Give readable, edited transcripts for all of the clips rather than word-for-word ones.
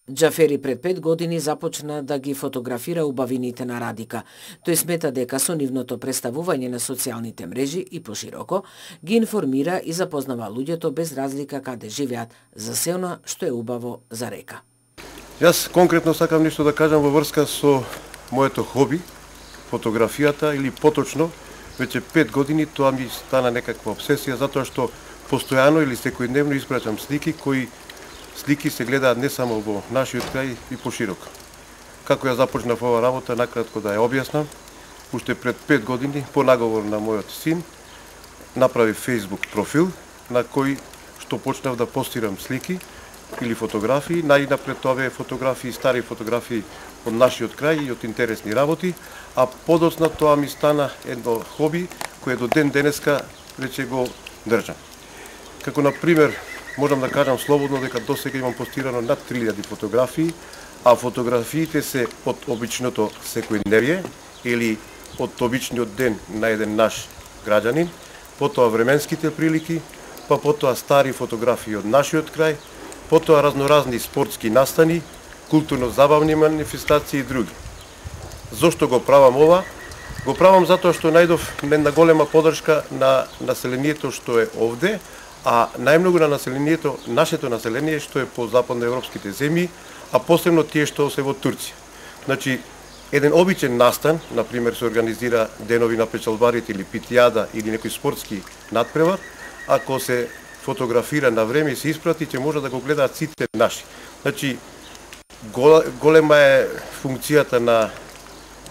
Џафери пред 5 години започна да ги фотографира убавините на Радика. Тој смета дека со нивното представување на социјалните мрежи и пошироко ги информира и запознава луѓето без разлика каде живеат за се она што е убаво за Река. Јас конкретно сакам нешто да кажам во врска со моето хоби, фотографијата или поточно, веќе 5 години тоа ми стана некаква обсесија затоа што постојано или секојдневно испраќам слики кои слики се гледаат не само во нашиот крај и пошироко. Како ја започнав ова работа, накратко да ја објаснам, уште пред 5 години, по наговор на мојот син, направи Facebook профил на кој што почнав да постирам слики или фотографии, најнапред овие фотографии, стари фотографии од нашиот крај и од интересни работи, а подоцна тоа ми стана едно хоби кое до ден денеска веќе го држам. Како на пример, можам да кажам слободно дека досега имам постирано над 3000 фотографии, а фотографиите се од обичното секојдневие или од обичниот ден на еден наш граѓанин, потоа временските прилики, па потоа стари фотографии од нашиот крај, потоа разноразни спортски настани, културно-забавни манифестации и други. Зошто го правам ова? Го правам затоа што најдов една голема поддршка на населението што е овде, а најмногу на населението, нашето население што е по западноевропските земји, а посебно тие што се во Турција. Значи, еден обичен настан, например се организира денови на печалбарите или питијада или некој спортски надпревар, ако се фотографира на време и се испрати, ќе може да го гледаат сите наши. Значи, голема е функцијата на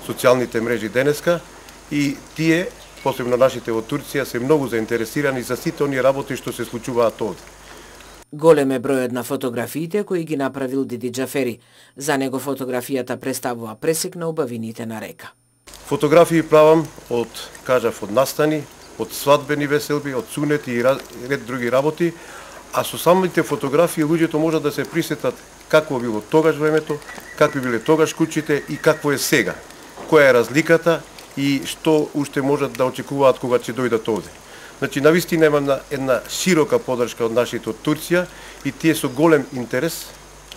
социјалните мрежи денеска и тие, посебно нашите во Турција, се многу заинтересирани за сите оние работи што се случуваат овде. Голем е бројот на фотографиите кои ги направил Диди Џафери. За него фотографијата представува пресек на убавините на Река. Фотографии правам од, кажав, од настани, од свадбени веселби, од сунети и ред други работи, а со самите фотографии луѓето можат да се присетат какво било тогаш времето, какви биле тогаш куќите и какво е сега. Која е разликата и што уште можат да очекуваат кога ќе дојдат овде. Значи, навистина има една широка поддршка од нашите од Турција и тие со голем интерес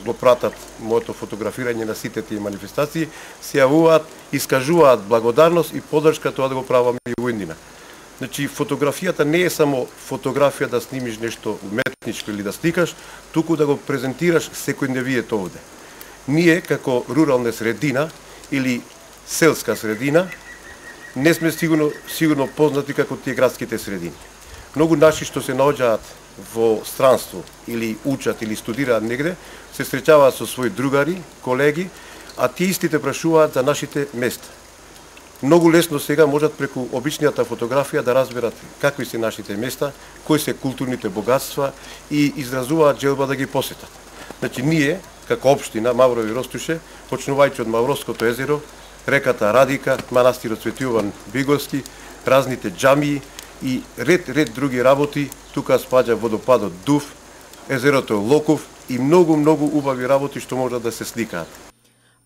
го пратат моето фотографирање на сите тие манифестации, се јавуваат, искажуваат благодарност и поддршка тоа да го правам и во иднина. Значи, фотографијата не е само фотографија да снимиш нешто уметничко или да сликаш, туку да го презентираш секојдневието овде. Ние, како рурална средина или селска средина, не сме сигурно познати како тие градските средини. Многу наши што се наоѓаат во странство или учат или студираат негде, се среќаваат со своји другари, колеги, а тие истите прашуваат за нашите места. Многу лесно сега можат преку обичнијата фотографија да разберат какви се нашите места, кои се културните богатства и изразуваат желба да ги посетат. Значи, ние, како општина Маврови Ростуше, почнувајќи од Мавровското езеро, реката Радика, манастирот Свети Јован Бигорски, разните џамии и ред други работи, тука спаѓа водопадот Дув, езерото Локов и многу убави работи што можат да се сликаат.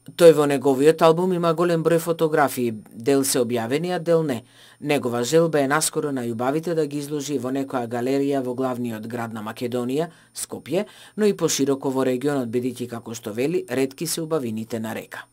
Тој во неговиот албум има голем број фотографии, дел се објавени, а дел не. Негова желба е наскоро најубавите да ги изложи во некоја галерија во главниот град на Македонија, Скопје, но и пошироко во регионот, бидејќи, како што вели, ретки се убавините на Река.